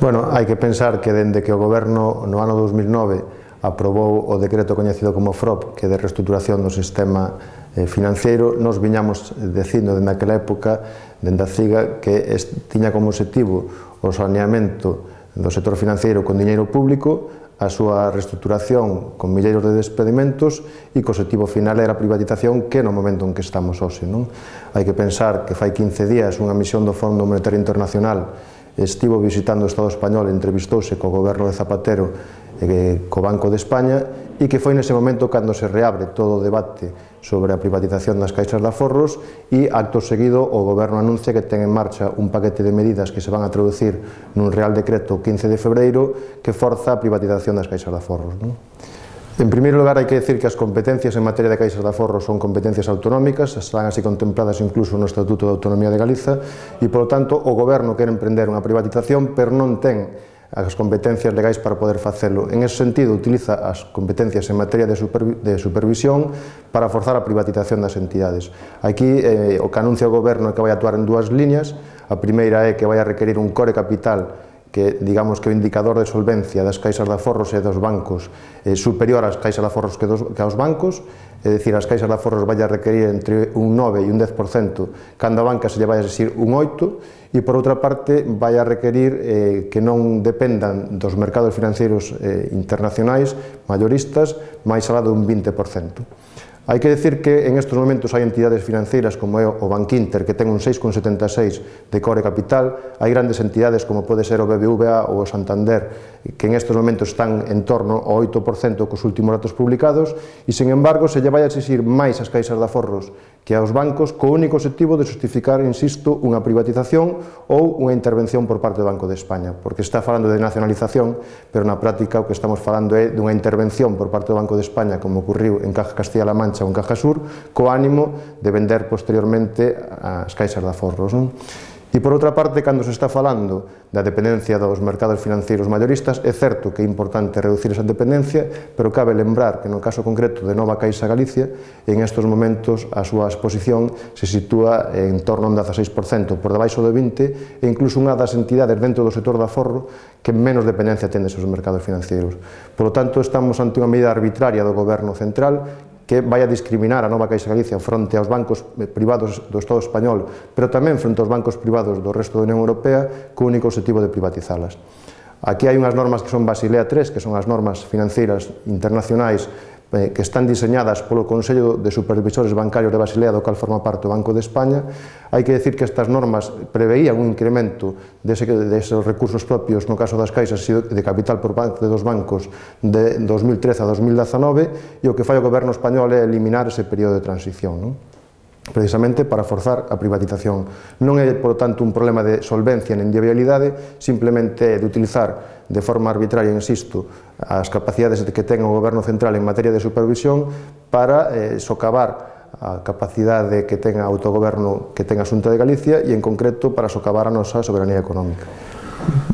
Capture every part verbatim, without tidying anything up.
Bueno, hai que pensar que dende que o Goberno no ano dos mil nove aprobou o decreto coñecido como F R O P, que é de reestruturación do sistema financeiro, nos viñamos dicindo dende aquela época, dende a CIGA, que tiña como objetivo o saneamento do sector financeiro con diñeiro público, a súa reestruturación con milleiros de despedimentos e que o objetivo final era a privatización, que no momento en que estamos hoxe. Hai que pensar que fai quince días unha misión do Fondo Monetario Internacional estivo visitando o Estado español e entrevistouse co goberno de Zapatero e co Banco de España, e que foi nese momento cando se reabre todo o debate sobre a privatización das caixas de aforros, e acto seguido o goberno anuncia que ten en marcha un paquete de medidas que se van a traducir nun Real Decreto quince de febreiro que forza a privatización das caixas de aforros. En primeiro lugar, hai que decir que as competencias en materia de caixas de aforros son competencias autonómicas, están así contempladas incluso no Estatuto de Autonomía de Galiza, e, polo tanto, o goberno quere emprender unha privatización, pero non ten as competencias legais para poder facelo. En ese sentido, utiliza as competencias en materia de, supervi de supervisión para forzar a privatización das entidades. Aquí, eh, o que anuncia o goberno é que vai actuar en dúas líneas. A primeira é que vai a requerir un core capital que, digamos, que o indicador de solvencia das caixas de aforros e dos bancos é superior ás caixas de aforros que, dos, que aos bancos, é dicir, as caixas de aforros vai a requerir entre un nove e un dez por cento, cando a banca se lle vai a exigir un oito por cento, e, por outra parte, vai a requerir eh, que non dependan dos mercados financeiros eh, internacionais, mayoristas, máis alá dun vinte por cento. Hai que decir que en estes momentos hai entidades financeiras como é o Bankinter, que ten un seis coma setenta e seis de core capital, hai grandes entidades como pode ser o B B V A ou o Santander, que en estes momentos están en torno ao oito por cento cos últimos datos publicados, e, sen embargo, se lle vai a exigir máis as caixas de aforros que aos bancos, co único objetivo de justificar, insisto, unha privatización ou unha intervención por parte do Banco de España, porque está falando de nacionalización, pero na práctica o que estamos falando é dunha intervención por parte do Banco de España, como ocurriu en Caja Castilla-La Mancha ou en Caja Sur, co ánimo de vender posteriormente as caixas de aforros. Non? E, por outra parte, cando se está falando da dependencia dos mercados financeiros mayoristas, é certo que é importante reducir esa dependencia, pero cabe lembrar que no caso concreto de Nova Caixa Galicia, en estes momentos a súa exposición se sitúa en torno a un dezaseis por cento, por debaixo do vinte por cento, e incluso unha das entidades dentro do sector do aforro que menos dependencia ten deses mercados financeiros. Por lo tanto, estamos ante unha medida arbitraria do Goberno Central que vai a discriminar a Nova Caixa Galicia fronte aos bancos privados do Estado español, pero tamén fronte aos bancos privados do resto da Unión Europea, co único objetivo de privatizalas. Aquí hai unhas normas que son Basilea tres, que son as normas financeiras internacionais que están diseñadas polo Consello de Supervisores Bancarios de Basilea, do cal forma parte o Banco de España. Hai que decir que estas normas preveían un incremento deses recursos propios no caso das caixas e de capital por parte dos bancos de dos mil trece a dos mil dezanove, e o que fai o Goberno español é eliminar ese período de transición, non? Precisamente para forzar a privatización. Non é, por tanto, un problema de solvencia nen de viabilidade, simplemente de utilizar de forma arbitraria, insisto, as capacidades que ten o Goberno Central en materia de supervisión para eh, socavar a capacidade que ten a autogoberno que ten a Xunta de Galicia e, en concreto, para socavar a nosa soberanía económica.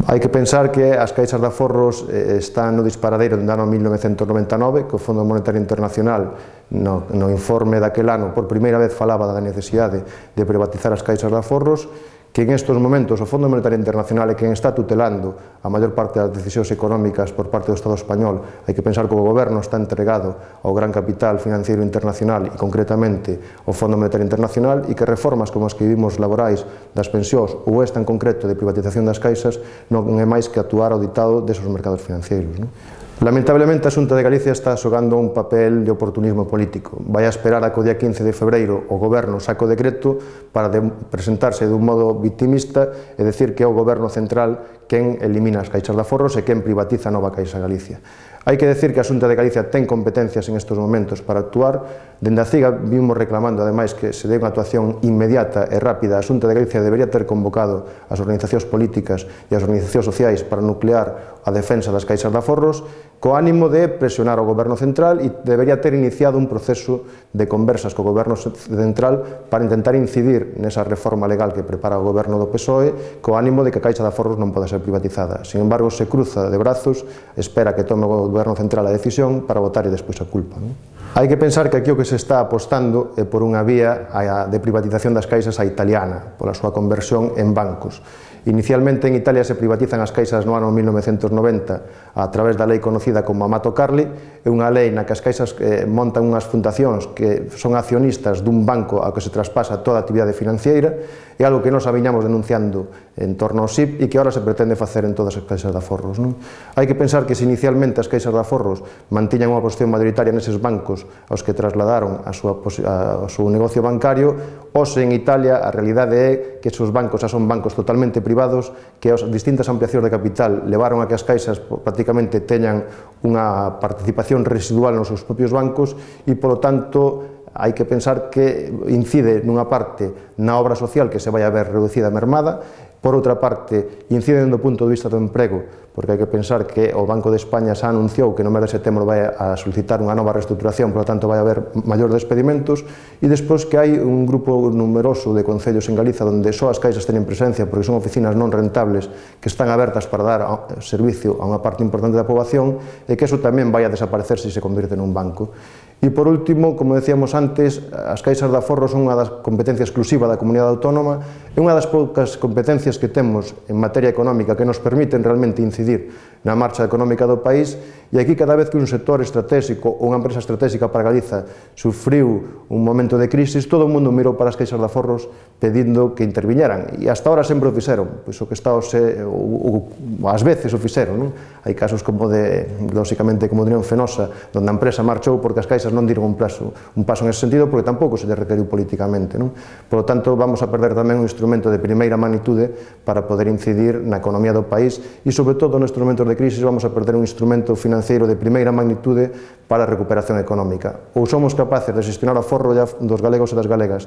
Hai que pensar que as caixas de aforros están no disparadeiro do ano mil novecentos noventa e nove, que o Fondo Monetario Internacional no, no informe daquel ano por primeira vez falaba da necesidade de privatizar as caixas de aforros, que en estes momentos o Fondo Monetario Internacional é quen está tutelando a maior parte das decisións económicas por parte do Estado español. Hai que pensar que o goberno está entregado ao gran capital financiero internacional e concretamente ao Fondo Monetario Internacional, e que reformas como as que vivimos laborais das pensións ou esta en concreto de privatización das caixas non é máis que actuar ao ditado desos mercados financeiros. Non? Lamentablemente, a Xunta de Galicia está xogando un papel de oportunismo político. Vai a esperar a que o día quince de febreiro o goberno saque o decreto para presentarse dun modo victimista e decir que é o goberno central quen elimina as caixas de aforros e quen privatiza a Nova Caixa Galicia. Hai que decir que a Xunta de Galicia ten competencias en estes momentos para actuar. Dende a CIGA vimos reclamando, ademais, que se dé unha actuación inmediata e rápida. A Xunta de Galicia debería ter convocado as organizacións políticas e as organizacións sociais para nuclear a defensa das caixas de aforros, co ánimo de presionar ao Goberno Central, e debería ter iniciado un proceso de conversas co Goberno Central para intentar incidir nesa reforma legal que prepara o Goberno do P S O E, co ánimo de que a caixa de aforros non poda ser privatizada. Sin embargo, se cruza de brazos, espera que tome o Goberno Central a decisión para votar e despois a culpa. Non? Hai que pensar que aquí o que se está apostando é por unha vía de privatización das caixas a italiana, pola súa conversión en bancos. Inicialmente en Italia se privatizan as caixas no ano mil novecentos noventa a través da lei conocida como Amato Carli, é unha lei na que as caixas eh, montan unhas fundacións que son accionistas dun banco ao que se traspasa toda a actividade financiera, é algo que nos aviñamos denunciando en torno ao S I P e que agora se pretende facer en todas as caixas de aforros. Non? Hai que pensar que se inicialmente as caixas de aforros mantiñan unha posición mayoritaria neses bancos aos que trasladaron a súa, a, a súa negocio bancario, hoxe en Italia a realidade é que esos bancos xa son bancos totalmente privados, que as distintas ampliacións de capital levaron a que as caixas prácticamente teñan unha participación residual nos seus propios bancos e, polo tanto, hai que pensar que incide nunha parte na obra social que se vai a ver reducida e mermada, por outra parte, incide do punto de vista do emprego, porque hai que pensar que o Banco de España xa anunciou que no mes de setembro vai a solicitar unha nova reestruturación, por lo tanto vai a haber maior despedimentos, e despois que hai un grupo numeroso de concellos en Galiza onde só as caixas teñen presencia porque son oficinas non rentables que están abertas para dar servicio a unha parte importante da poboación, e que eso tamén vai a desaparecer se se convirte nun banco. E, por último, como decíamos antes, as caixas de aforro son unha das competencias exclusiva da comunidade autónoma, é unha das poucas competencias que temos en materia económica que nos permiten realmente incidir na marcha económica do país, e aquí cada vez que un sector estratégico ou unha empresa estratégica para Galiza sufriu un momento de crisis, todo o mundo mirou para as caixas de aforros pedindo que interviñeran, e hasta ahora sempre o fixeron, pois o que está ose, o, o, ás veces o fixeron, non? Hai casos como de, lóxicamente, como de Unión Fenosa, onde a empresa marchou porque as caixas non diron un paso, un paso en ese sentido, porque tampouco se lle requeriu políticamente, non? Por lo tanto, vamos a perder tamén un instrumento de primeira magnitude para poder incidir na economía do país, e, sobre todo, nestes momentos de crisis, vamos a perder un instrumento financeiro de primeira magnitude para a recuperación económica. Ou somos capaces de gestionar o aforro dos galegos e das galegas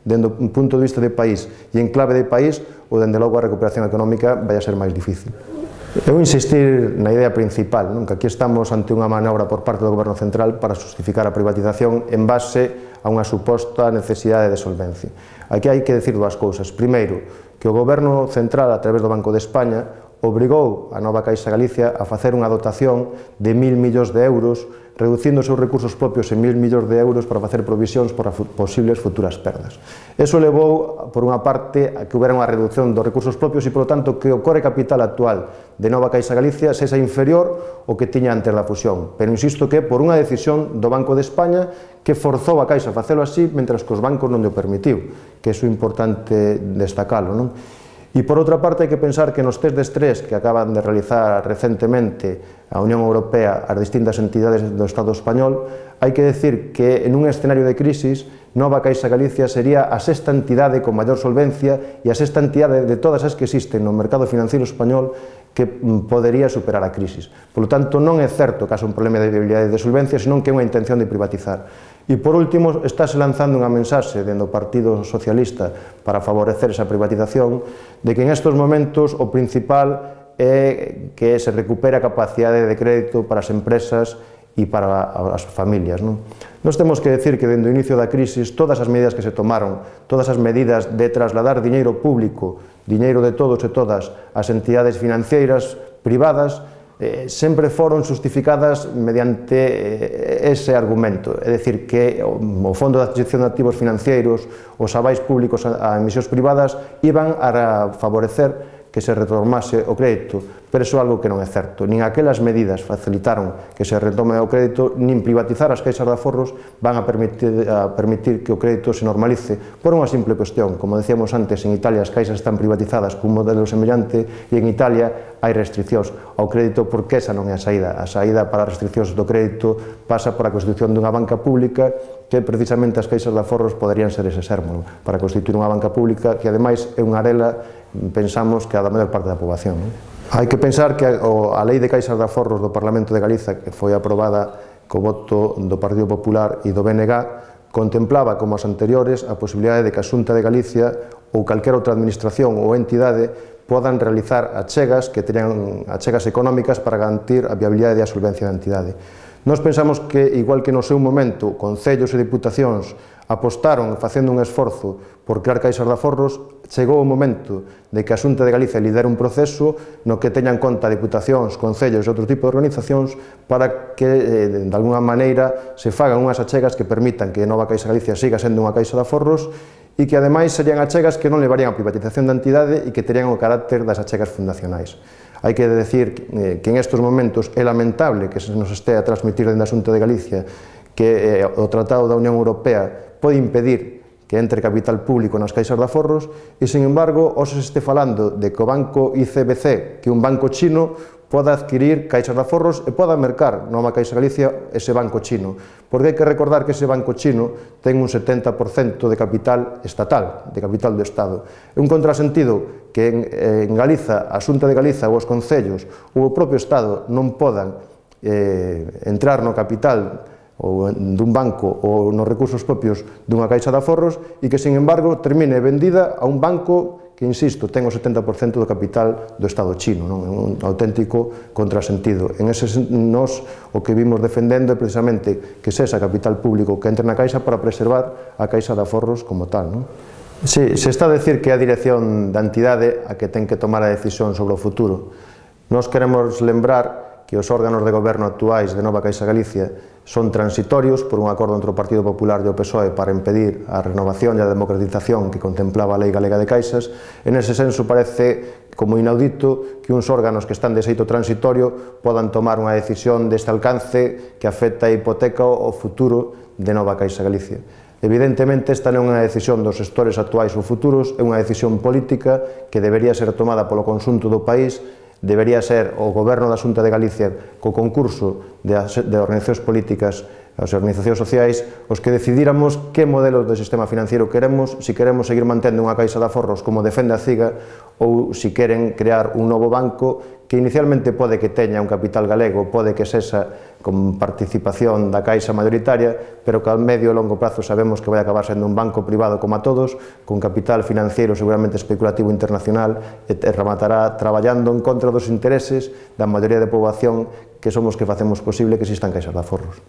dende un punto de vista de país e en clave de país, ou dende logo a recuperación económica vai a ser máis difícil. Eu insistir na idea principal, non? Que aquí estamos ante unha manobra por parte do Goberno Central para justificar a privatización en base a unha suposta necesidade de solvencia. Aquí hai que decir dúas cousas. Primeiro, que o Goberno Central, a través do Banco de España, obrigou a nova Caixa Galicia a facer unha dotación de mil millóns de euros, reducindo os seus recursos propios en mil millóns de euros para facer provisións para posibles futuras perdas. Eso levou, por unha parte, a que houbera unha reducción dos recursos propios e, polo tanto, que o core capital actual de nova Caixa Galicia sexa inferior ao que tiña antes da fusión. Pero insisto que por unha decisión do Banco de España que forzou a Caixa a facelo así, mentre que os bancos non o permitiu, que iso é importante destacalo, non? E, por outra parte, hai que pensar que nos test de estrés que acaban de realizar recentemente a Unión Europea as distintas entidades do Estado español, hai que decir que en un escenario de crisis, Nova Caixa Galicia sería a sexta entidade con maior solvencia e a sexta entidade de todas as que existen no mercado financiero español que podería superar a crisis. Por lo tanto, non é certo que haxa un problema de viabilidade de solvencia, senón que é unha intención de privatizar. E, por último, estáse lanzando unha mensaxe dentro do Partido Socialista para favorecer esa privatización de que en estes momentos o principal é que se recupere a capacidade de crédito para as empresas e para as familias. Non? Nós temos que decir que dende o inicio da crisis todas as medidas que se tomaron, todas as medidas de trasladar diñeiro público, diñeiro de todos e todas as entidades financeiras privadas, Eh, sempre foron justificadas mediante eh, ese argumento, é dicir, que o, o Fondo de Adquisición de Activos Financeiros, os avais públicos a, a emisións privadas, iban a favorecer que se retomase o crédito, pero iso é algo que non é certo. Nin aquelas medidas facilitaron que se retome o crédito, nin privatizar as caixas de aforros van a permitir, a permitir que o crédito se normalice por unha simple cuestión. Como decíamos antes, en Italia as caixas están privatizadas cun modelo semellante e en Italia hai restriccións ao crédito porque esa non é a saída. A saída para as restriccións do crédito pasa por a constitución dunha banca pública que precisamente as caixas de aforros poderían ser ese sermo, para constituir unha banca pública que ademais é unha arela, pensamos, que a da maior parte da poboación. Hai que pensar que a Lei de Caixas de Aforros do Parlamento de Galiza, que foi aprobada co voto do Partido Popular e do B N G, contemplaba, como as anteriores, a posibilidade de que a Xunta de Galicia ou calquera outra administración ou entidade podan realizar achegas que teñan achegas económicas para garantir a viabilidade e a solvencia da entidade. Nós pensamos que, igual que no seu momento, concellos e diputacións apostaron facendo un esforzo por crear caixas de aforros, chegou o momento de que a Xunta de Galicia lidere un proceso no que teñan conta diputacións, concellos e outro tipo de organizacións para que, eh, de alguna maneira, se fagan unhas achegas que permitan que Nova Caixa Galicia siga sendo unha caixa de aforros e que ademais serían achegas que non levarían a privatización da entidade e que terían o carácter das achegas fundacionais. Hai que decir que en estes momentos é lamentable que se nos este a transmitir dentro da Xunta de Galicia que o Tratado da Unión Europea pode impedir que entre capital público nas caixas de aforros e, sin embargo, hoxe se este falando de que o banco I C B C, que é un banco chino, poda adquirir caixas de aforros e poda mercar nova Caixa Galicia ese banco chino. Porque hai que recordar que ese banco chino ten un setenta por cento de capital estatal, de capital do Estado. É un contrasentido que en, en Galiza, a Xunta de Galiza ou os concellos ou o propio Estado non podan eh, entrar no capital ou dun banco ou nos recursos propios dunha caixa de aforros e que, sin embargo, termine vendida a un banco que, insisto, ten o setenta por cento do capital do Estado chino, non? É un auténtico contrasentido. En ese, nos, o que vimos defendendo é precisamente que sexa capital público que entre na caixa para preservar a caixa de aforros como tal, non? Sí, se está a decir que é a dirección da entidade a que ten que tomar a decisión sobre o futuro. Nós queremos lembrar que os órganos de goberno actuais de Nova Caixa Galicia son transitorios por un acordo entre o Partido Popular e o P S O E para impedir a renovación e a democratización que contemplaba a Lei Galega de Caixas. En ese senso parece como inaudito que uns órganos que están de xeito transitorio podan tomar unha decisión deste alcance que afecta a hipoteca o futuro de Nova Caixa Galicia. Evidentemente, esta non é unha decisión dos xestores actuais ou futuros, é unha decisión política que debería ser tomada polo conxunto do país. Debería ser o Goberno da Xunta de Galicia co concurso de, de organizacións políticas, as organizacións sociais, os que decidíramos que modelos de sistema financiero queremos, se queremos seguir mantendo unha caixa de aforros como defende a CIGA ou se queren crear un novo banco que inicialmente pode que teña un capital galego, pode que sexa con participación da caixa mayoritaria, pero que ao medio e longo prazo sabemos que vai acabar sendo un banco privado como a todos, con capital financiero seguramente especulativo internacional e rematará traballando en contra dos intereses da maioría de poboación que somos que facemos posible que existan caixas de aforros.